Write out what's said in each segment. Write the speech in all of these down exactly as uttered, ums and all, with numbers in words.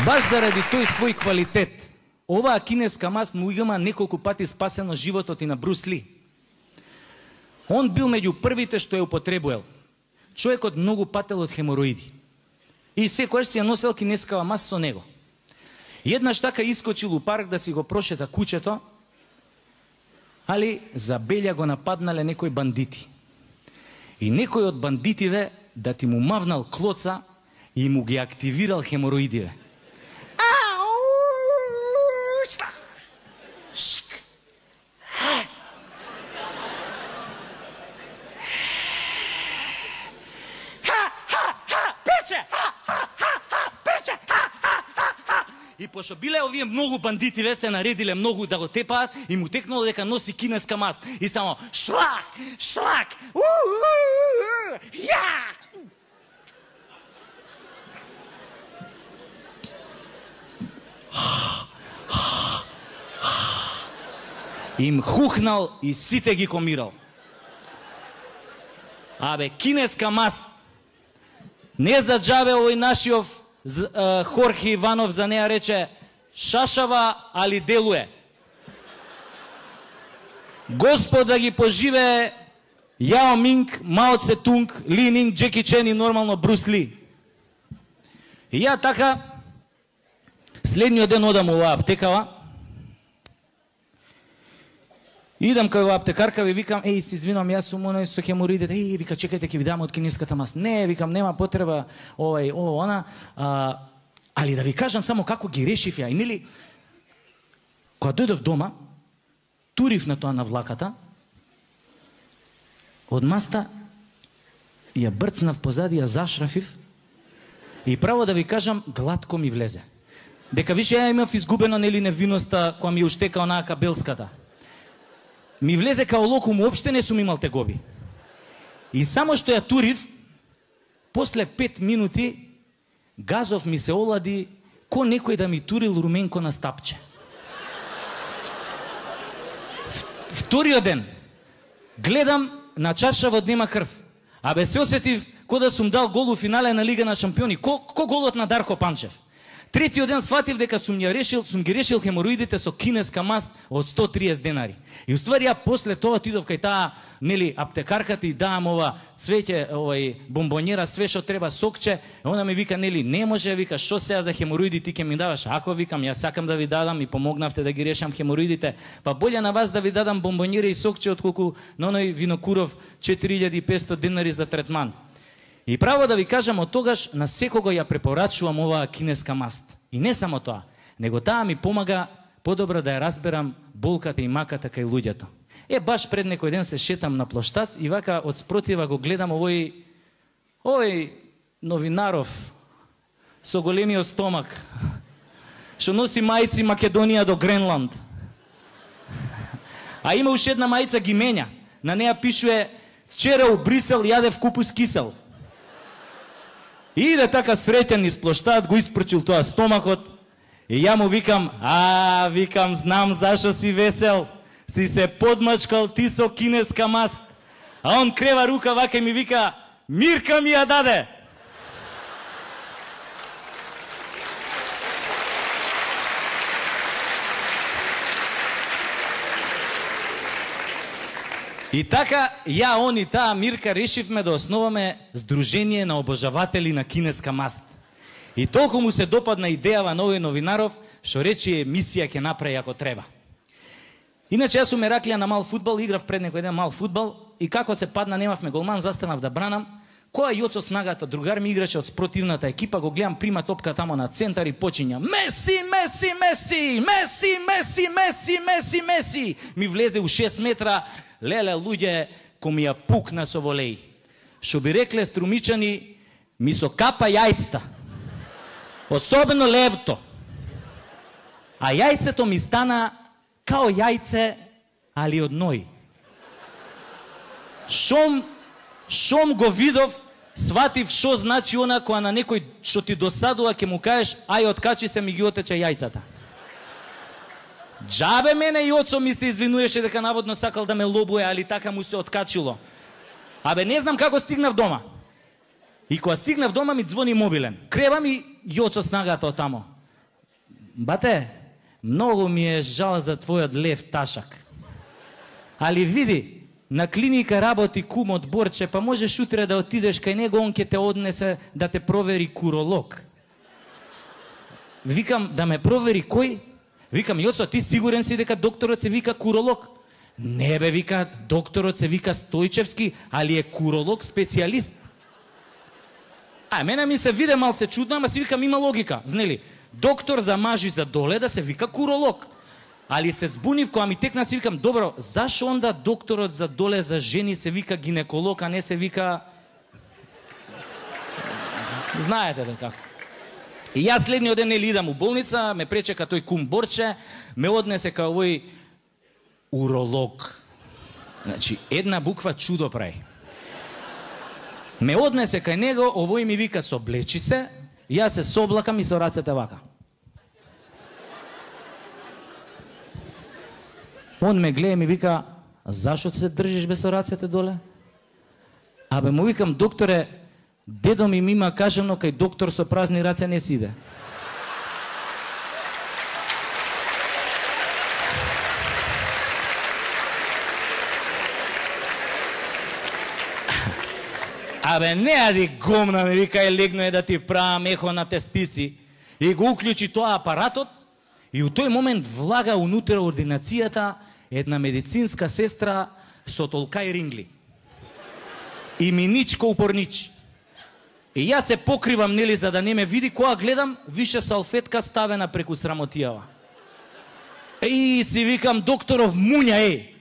Баш заради тој свој квалитет, оваа кинеска маст му има неколку пати спасено животот и на Брус Ли. Он бил меѓу првите што ја употребувал. Човекот многу пател од хемороиди. И секојаш си ја носел кинескава маст со него. Еднаш така искочил у парк да си го прошета кучето, али за белја го нападнале некои бандити. И некој од бандитиве да ти му мавнал клоца и му ги активирал хемороидиве. И пошто биле овие многу бандитиве се наредиле многу да го тепаат и му текнало дека носи кинеска маст. И само шлак, шлак, ја! Им хухнал и сите ги комирал. Абе, кинеска маст. Не за џабе овој нашиов Хорхе Иванов за неа рече шашава, али делуе. Господ да ги поживее Јао Минг, Мао Цетунг, Ли Нинг, Джеки Чен и нормално Брус Ли. И ја така следниот ден одам оваа аптекава. Идам кај оваа аптекарка, ви викам, еј, се извинам, јас сум оној со хемороидите. Еј, вика, чекајте, ќе ви дам од кинеската маст. Не, викам, нема потреба, овај, ово, она. А, али да ви кажам само како ги решив ја. И нели, кога дојдов дома, турив на тоа на влаката, од маста ја брцнав позади, ја зашрафив и право да ви кажам, глатко ми влезе. Дека више ја имав изгубена, нели, невиноста која ми уштека онаа кабелската. Ми влезе као локум, уопште не сум имал тегоби. И само што ја турив, после пет минути, газов ми се олади, ко некој да ми турил руменко на стапче. Вториот ден, гледам, на чаршавот нема крв. Абе се осетив, ко да сум дал гол у финале на Лига на шампиони. Ко, ко голот на Дарко Панчев. Третиот ден сватив дека сум ја решил, сум ги решил хемороидите со кинеска маст од сто и триесет денари. И уствари ја после тоа отидов кај таа, нели, аптекарката и даам ова цвеќе, овај бомбонjera, све што треба, сокче. Она ми вика, нели, не може, вика, што сега за хемороиди ти ќе ми даваш? Ако, викам, јас сакам да ви дадам и помогнавте да ги решам хемороидите, па боле на вас да ви дадам бомбонjera и сокче отколку на оној Винокуров четири илјади и петстотини денари за третман. И право да ви кажам, од тогаш на секого ја препорачувам оваа кинеска маст. И не само тоа, него таа ми помага подобро да ја разберам болката и маката кај луѓето. Е, баш пред некој ден се шетам на плоштад и вака од спротива го гледам овој овој новинаров со големиот стомак, што носи мајци Македонија до Гренланд. А има уште една мајца ги менја. На неа пишуе вчера у Брисел јадев купус кисел. И иде така среќен низ плоштад, го испрчил тоа стомакот и ја му викам, а, викам, знам зашо си весел, си се подмачкал ти со кинеска маст. А он крева рука вака и ми вика, Мирка ми ја даде. И така, ја, он и таа Мирка решивме да основаме Сдружение на обожаватели на кинеска маст. И толку му се допадна идејава на овој новинаров, што рече емисија ќе направи ако треба. Иначе јас сум Ераклија на мал фудбал, играв пред некој ден мал фудбал и како се падна, немавме голман, застанав да бранам. Која Јоцо Снагата, другар ми играше од спротивната екипа, го гледам, прима топка тамо на центар и почиња Меси, Меси, Меси, Меси, Меси, Меси, Меси, Меси. Ми влезе у шест метра, леле, луѓе, ко ми ја пукна со волеј. Шо би рекле струмичани, ми со капа јајцата. Особено левто. А јајцето ми стана као јајце, али од ној. Шом, шом го видов, сватив шо значи она која на некој што ти досадува ќе му кажеш, ај откачи се ми ги отече јајцата. Джабе мене и оцо ми се извинуваше дека наводно сакал да ме лобуе, али така му се откачило. Абе не знам како стигнав дома. И кога стигнав дома ми ѕвони мобилен. Кревам и Јоцо Снагата од тамо. бате, многу ми е жал за твојот лев ташак. Али види, на клиника работи кум од Борче, па можеш утре да отидеш кај него, он ќе те однесе да те провери куролог. Викам, да ме провери кој? Викам, Јоцо, ти сигурен си дека докторот се вика куролог? Не бе, вика, докторот се вика Стојчевски, али е куролог специјалист. А, мене ми се виде малце чудно, ама си викам, има логика, знели? Доктор за мажи за доле да се вика куролог. Али се збунив кога ми текна, си викам, добро, зашо онда докторот за доле за жени се вика гинеколог, а не се вика... Знаете да како. И јас следниот ден нели идам у болница, ме пречека тој кум Борче, ме однесе кај овој уролог. Значи, една буква чудо прави. Ме однесе кај него, овој ми вика, соблечи се, јас се соблакам и со рацете вака. Он ме гледа и ми вика, зашо се држиш без со рацете доле? Абе, му викам, докторе, дедо ми ми има кажано, кај доктор со празни раце не си иде. Абе, не ади гомна, ми вика, е легно е да ти правам ехо на тестиси. И го уклучи тоа апаратот, и у тој момент влага унутре ординацијата една медицинска сестра со толкај рингли. И миничко упорнич. И јас се покривам, нели, за да не ме види, кога гледам, више салфетка ставена преку срамотијава. И си викам, докторов муња, е!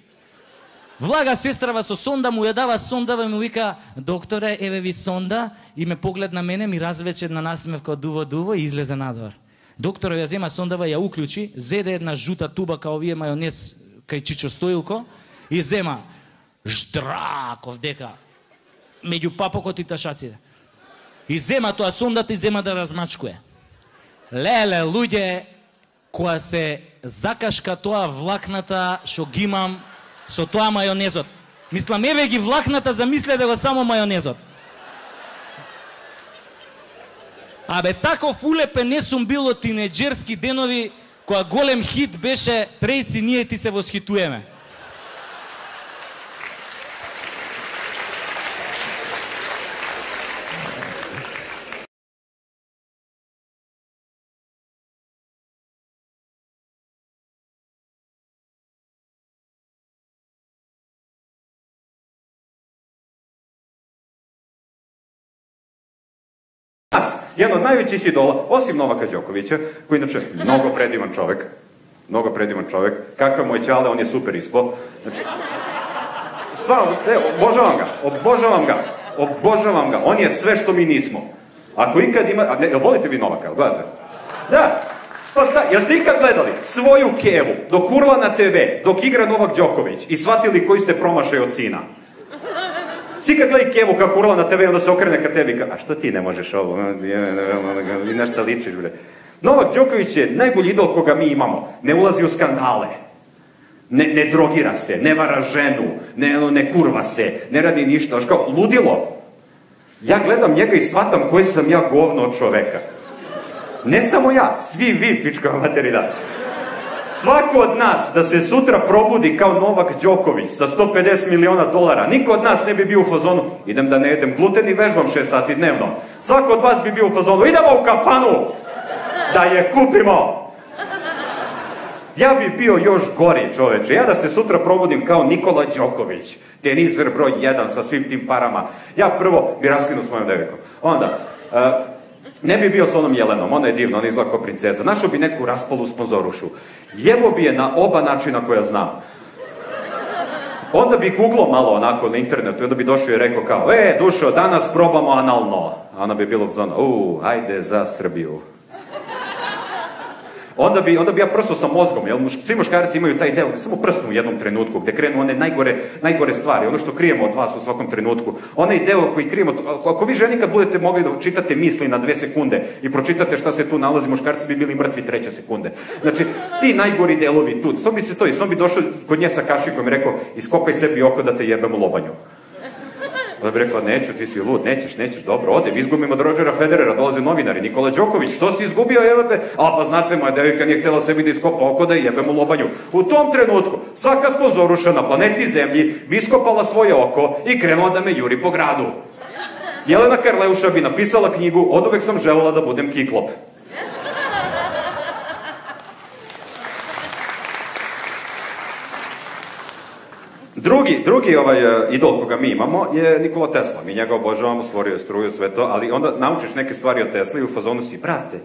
Влага сестрава со сонда, му ја дава сондава и му вика, докторе, еве ви сонда, и ме поглед на мене, ми развече една насмевка дуво-дуво и излезе надвор. Докторот ја зема сондава, ја уклучи, зеде една жута туба као овие мајонез кај Чичо Стоилко и зема ждраков дека меѓу папокот и ташаците. И зема тоа сондата и зема да размачкуе. Леле, луѓе, која се закашка тоа влакната што ги имам со тоа мајонезот. Мислам, еве ги влакната, замисле да го само мајонезот. Абе, таков улепен не сум бил од тинеџерски денови, која голем хит беше Трейси, ние ти се восхитуеме. Jedan od najvećih idola, osim Novaka Đokovića, koji inače mnogo predivan čovek, mnogo predivan čovek, kakav moj ćale, on je super ispo. Znači, stvarno, ne, obožavam ga, obožavam ga, obožavam ga, on je sve što mi nismo. Ako ikad ima, a ne, volite vi Novaka, gledate? Da, pa da, jeste ikad gledali svoju kevu, dok urla na te ve, dok igra Novak Đoković i shvatili koji ste promašaj od sina? Svi kad gledaj kevu kako urla na te ve, onda se okrene ka tebi i ka, a što ti ne možeš ovo? I na šta ličiš, bre. Novak Đoković je najbolji idol koga mi imamo. Ne ulazi u skandale. Ne, ne drogira se, ne vara ženu, ne, ne kurva se, ne radi ništa. Aš kao, ludilo. Ja gledam njega i shvatam koji sam ja govno od čoveka. Ne samo ja, svi vi, pička materina. Svako od nas da se sutra probudi kao Novak Đoković sa sto pedeset miliona dolara, niko od nas ne bi bio u fazonu, idem da ne jedem gluten i vežbam šest sati dnevno. Svako od vas bi bio u fazonu, idemo u kafanu da je kupimo. Ja bi bio još gori, čoveče. Ja da se sutra probudim kao Nikola Đoković, teniser broj jedan sa svim tim parama. Ja prvo bi raskinuo s mojom devikom. Onda, ne bi bio s onom Jelenom, ona je divna, ona izgleda kao princeza. Našao bi neku raspolu sponzorušu. Jevo bi je na oba načina koja znam. Onda bi googlao malo onako na internetu i onda bi došao i rekao kao, e, Dušo, danas probamo analno. A ona bi bilo u zonu, uuu, ajde za Srbiju. Onda bi, onda bi ja prso sa mozgom, jer svi muškarci imaju taj deo gde samo prsnu u jednom trenutku, gde krenu one najgore, najgore stvari, ono što krijemo od vas u svakom trenutku. Onaj deo koji krijemo, ako vi ženi kad budete mogli da čitate misli na dve sekunde i pročitate šta se tu nalazi, muškarci bi bili mrtvi treće sekunde. Znači, ti najgori delovi tu, samo bi se to, i samo bi došao kod nje sa kašikom i rekao, iskopaj sebi oko da te jebem u lobanju. Da bi rekla, neću, ti si lud, nećeš, nećeš, dobro, odem, izgubim od Rodgera Federera, dolaze novinari, Nikola Đoković, što si izgubio, evo te, a pa znate, moja devojka nije htjela sebi da iskopa oko da jebem u lobanju. U tom trenutku, svaka sponzoruša na planeti Zemlji bi iskopala svoje oko i krenula da me juri po gradu. Jelena Karleuša bi napisala knjigu, oduvek sam želela da budem kiklop. Drugi, drugi ovaj idol koga mi imamo je Nikola Tesla. Mi njega obožavamo, stvorio je struju, sve to, ali onda naučiš neke stvari o Tesli i u fazonu si, brate,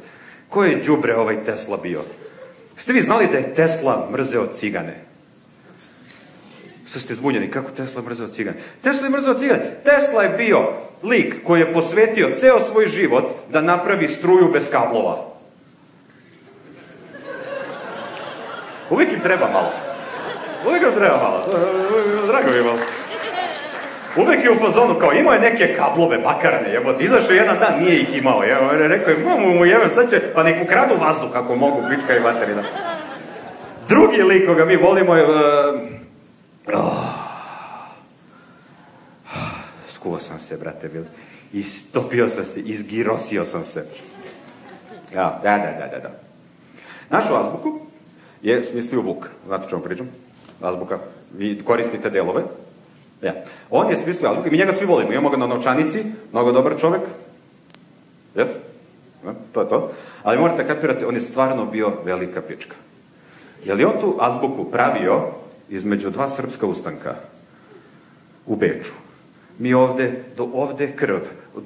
ko je đubre ovaj Tesla bio? Ste vi znali da je Tesla mrzeo cigane? Sad ste zbunjeni, kako Tesla mrzeo cigane? Tesla je mrzeo cigane. Tesla je bio lik koji je posvetio ceo svoj život da napravi struju bez kablova. Uvijek im treba malo. Uvijek im treba malo. Drago mi je malo. Uvijek je u fazonu, kao imao je neke kablove bakarne, jebote, izašao jedan dan, nije ih imao, je, rekao je, mamu mu jebem, sad će, pa nek ukradu vazduh ako mogu, pička i materina. Drugi lik koga mi volimo je... Uh, oh, skuo sam se, brate, bili. Istopio sam se, izgirosio sam se. Ja, da, da, da, da, da. Našu azbuku je smislio Vuk, znate o čemu pričam? Azbuka, vi koristite delove. Ja. On je smislio azbuku i mi njega svi volimo. Imamo ga na novčanici, mnogo dobar čovek. Jes? Ja, to je to. Ali morate kapirati, on je stvarno bio velika pička. Je li on tu azbuku pravio između dva srpska ustanka u Beču? Mi ovde, do ovde krv,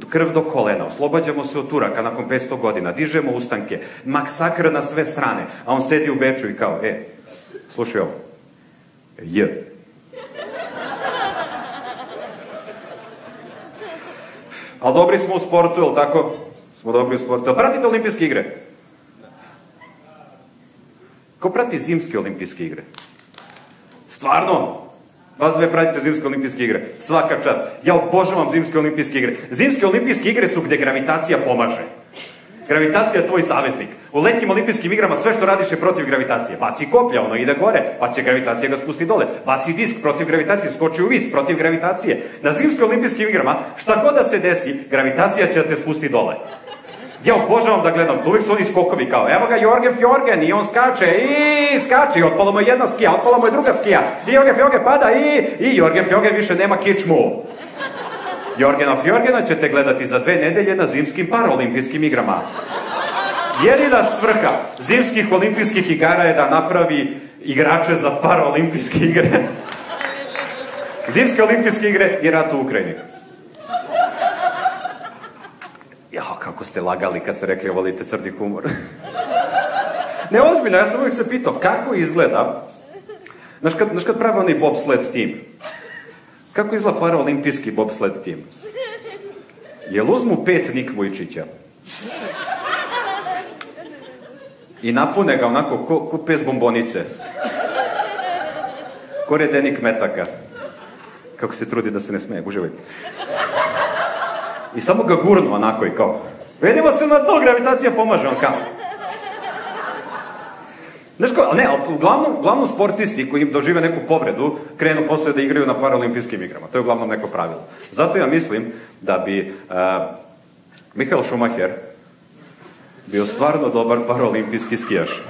krv do kolena, oslobađamo se od Turaka nakon petsto godina, dižemo ustanke, maksakr na sve strane, a on sedi u Beču i kao, e, slušaj ovo, J. Ali dobri smo u sportu, je li tako? Smo dobri u sportu. Ali pratite olimpijske igre? Ko prati zimske olimpijske igre? Stvarno? Vas dve pratite zimske olimpijske igre. Svaka čast. Ja obožavam zimske olimpijske igre. Zimske olimpijske igre su gde gravitacija pomaže. Gravitacija je tvoj saveznik. U letnjim olimpijskim igrama sve što radiš je protiv gravitacije. Baci koplja, ono ide gore, pa će gravitacija ga spusti dole. Baci disk protiv gravitacije, skoči u vis protiv gravitacije. Na zimskim olimpijskim igrama, šta god da se desi, gravitacija će da te spusti dole. Ja obožavam da gledam, uvijek su oni skokovi kao, evo ga Jorgen Fjorgen i on skače i skače i otpala mu je jedna skija, otpala mu je druga skija i Jorgen Fjorgen pada i, i Jorgen Fjorgen više nema kičmu. Jorgena Fjorgena ćete gledati za dve nedelje na zimskim paraolimpijskim igrama. Jedina svrha zimskih olimpijskih igara je da napravi igrače za paraolimpijske igre. Zimske olimpijske igre i rat u Ukrajini. Jao, kako ste lagali kad ste rekli volite crni humor. Ne, ozbiljno, ja sam uvijek se pitao kako izgleda, znaš kad, znaš kad pravi onaj bobsled tim, kako izgleda paraolimpijski bobsled tim? Jel uzmu pet Nik Vujčića i napune ga onako ko, ko pes bombonice, ko redenik metaka, kako se trudi da se ne smeje, uživaj. I samo ga gurnu onako i kao, vidimo se na to, gravitacija pomaže, on kao. Znaš ko, ne, uglavnom, uglavnom sportisti koji dožive neku povredu, krenu posle da igraju na paraolimpijskim igrama. To je uglavnom neko pravilo. Zato ja mislim da bi uh, Michael Schumacher bio stvarno dobar paraolimpijski skijaš.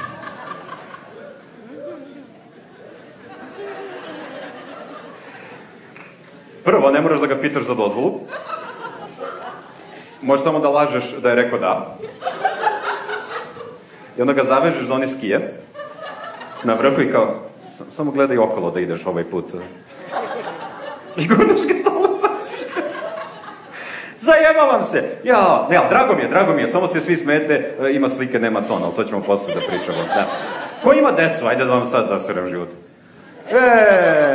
Prvo, ne moraš da ga pitaš za dozvolu. Možeš samo da lažeš da je rekao da. I onda ga zavežeš za one skije. Na vrhu i kao, samo gledaj okolo da ideš ovaj put. I gurnaš ga dole, baciš ga. Zajebavam se. Ja, ne, ali drago mi je, drago mi je. Samo se svi smete, ima slike, nema ton, ali to ćemo posle da pričamo. Da. Ko ima decu? Ajde da vam sad zaseram život. Eee!